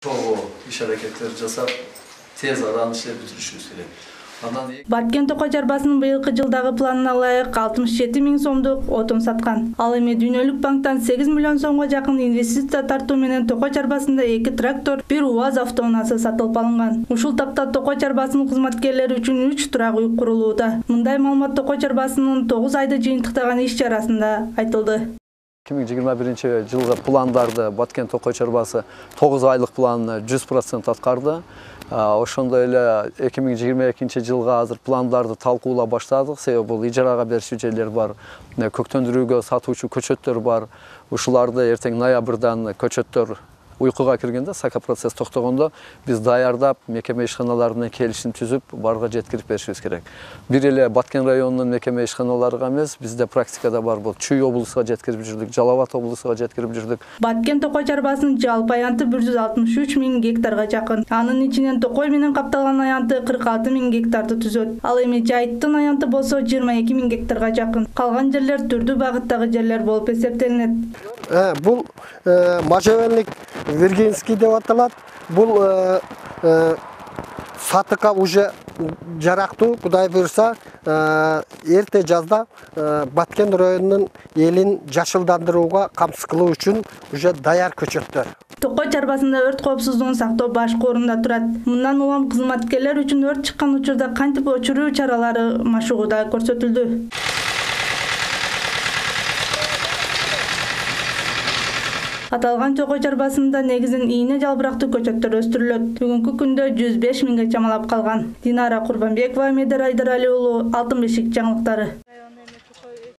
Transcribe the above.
Чогуу иш аракеттер жасап, тез адан иштеп бүтүрүшүбүз керек. Баткен Токой чарбасынын быйылкы жылдагы планына ылайык 67 000 сомдук отун саткан. Ал эми Дүйнөлүк банктан 8 миллион сомго жакын инвестиция тартуу менен Токой чарбасында 2 трактор, 1 УАЗ автоунаасы сатылып алынган. Ушул тапта Токой чарбасынын кызматкерлери үчүн 3 турак үй курулууда. Мындай маалымат Токой чарбасынын 9 айды жыйынтыктаган иш чарасында айтылды. 2021 жылғы пландарды Баткен Токой чарбасы 9 айлық планны 100% аткарды. Ошондой эле 2022 жылга азыр пландарды талкуулап баштадык. Себеби бул ижарага берүүчү жерлер бар, көктөндүрүүгө сатуучу көчөттөр бар. Ушуларды эртең ноябрдан көчөттөр уйкуга киргенде, сака процесс токтогондо биз даярдап, мекеме ишканалары менен келишим түзүп, барга жеткирип беришибиз керек. Бир эле Баткен районунун мекеме ишканаларыга эмес, бизде практикада бар бул Чүй облусуга жеткирип жүрдүк, Жалал Абад облусуга жеткирип жүрдүк. Баткен Токой чарбасынын жалпы аянты 163 000 гектарга жакын. Анын ичинен Токой менен капталган аянты 46 000 гектарды түзөт. Ал эми жайыттын аянты болсо 22 000 гектарга жакын. Калган жерлер түрдүү багыттагы жерлер болуп эсептелинет. Бул можжевельник Виргинский деп аталат. Бул сатыкка уже жарактуу, Кудай буйрса, эрте жазда Баткен районунун элин жашылдандырууга камсыз кылуу үчүн уже даяр көчөттөр. Токой чарбасында өрт коопсуздугун сактоо башкы орунда турат. Мындан улам кызматкерлер үчүн өрт чыккан учурда кантип өчүрүү чаралары машыгууда көрсөтүлдү. Аталган Токой чарбасында негизин ийне жалбырактуу көчөттөр өстүрүлөт. Бүгүнкү күндө 105 000ге чамалап калган. Динара Курбанбекова, Медер Айдарали уулу, Алтын бешик жаңылыктары.